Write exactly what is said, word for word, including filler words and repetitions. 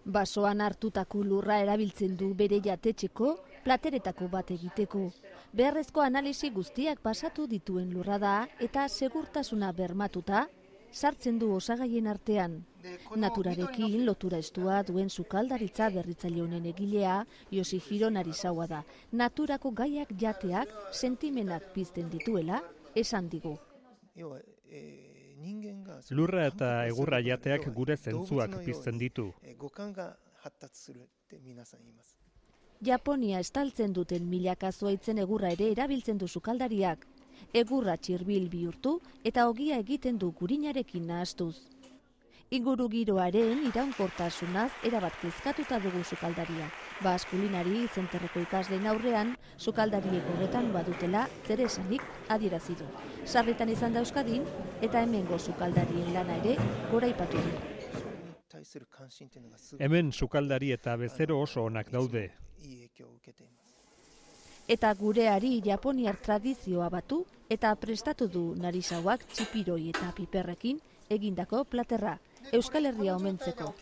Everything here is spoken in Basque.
Basoan hartutako lurra erabiltzen du bere jatetxeko plateretako bat egiteko. Beharrezko analisi guztiak pasatu dituen lurra da eta segurtasuna bermatuta sartzen du osagaien artean. Naturarekin lotura estua duen sukaldaritza berritzaile honen egilea Yoshihiro Narisawa da. Naturako gaiak jateak sentimenak pizten dituela esan digu. Lurra eta egurra jateak gure zentzuak pizten ditu. Japonia estaltzen duten milaka zuhaitzen egurra ere erabiltzen du sukaldariak. Egurra txirbil bihurtu eta ogia egiten du gurinarekin nahastuz. Inguru giroaren iraunkortasunaz erabat kezkatuta dugu sukaldaria. Bas kulinari zenterreko ikasleen aurrean, sukaldariek horretan badutela zer esanik adierazi du. Sarritan izan da Euskadin eta hemengo sukaldarien lana ere goraipatu du. Hemen sukaldari eta bezero oso onak daude. Eta gureari japoniar tradizioa batu eta prestatu du Narisawak txipiroi eta piperrekin egindako platerra, Euskal Herria omentzeko.